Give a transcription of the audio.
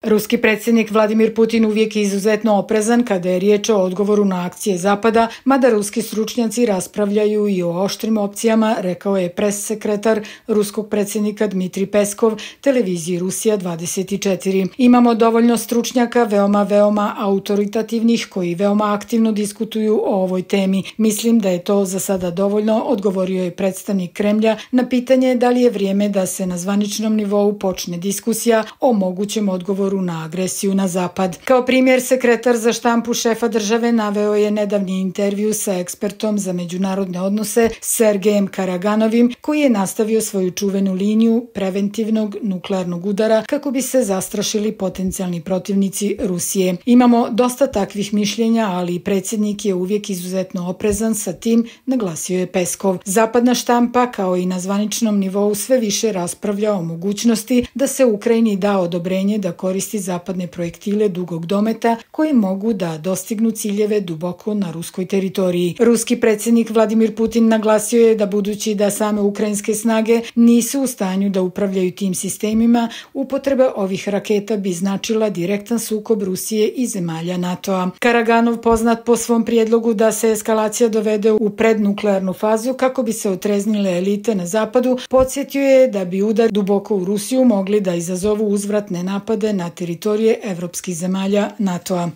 Ruski predsjednik Vladimir Putin uvijek je izuzetno oprezan kada je riječ o odgovoru na akcije Zapada, mada ruski stručnjaci raspravljaju i o oštrim opcijama, rekao je pres sekretar ruskog predsjednika Dmitrij Peskov televiziji Rusija 24. Imamo dovoljno stručnjaka, veoma autoritativnih, koji veoma aktivno diskutuju o ovoj temi. Mislim da je to za sada dovoljno, odgovorio je predstavnik Kremlja na pitanje da li je vrijeme da se na zvaničnom nivou počne diskusija o mogućem odgovoru na agresiju na Zapad. Kao primjer, sekretar za štampu šefa države naveo je nedavni intervju sa ekspertom za međunarodne odnose Sergejem Karaganovim, koji je nastavio svoju čuvenu liniju preventivnog nuklearnog udara kako bi se zastrašili potencijalni protivnici Rusije. Imamo dosta takvih mišljenja, ali i predsjednik je uvijek izuzetno oprezan sa tim, naglasio je Peskov. Zapadna štampa, kao i na zvaničnom nivou, sve više raspravlja o mogućnosti da se Ukrajini da odobrenje da koristi zapadne projektile dugog dometa koji mogu da dostignu ciljeve duboko na ruskoj teritoriji. Ruski predsjednik Vladimir Putin naglasio je da budući da same ukrajinske snage nisu u stanju da upravljaju tim sistemima, upotreba ovih raketa bi značila direktan sukob Rusije i zemalja NATO-a. Karaganov, poznat po svom prijedlogu da se eskalacija dovede u prednuklearnu fazu kako bi se otreznile elite na zapadu, podsjetio je da bi udar duboko u Rusiju mogli da izazovu uzvratne napade na teritorije evropskih zemalja NATO-a.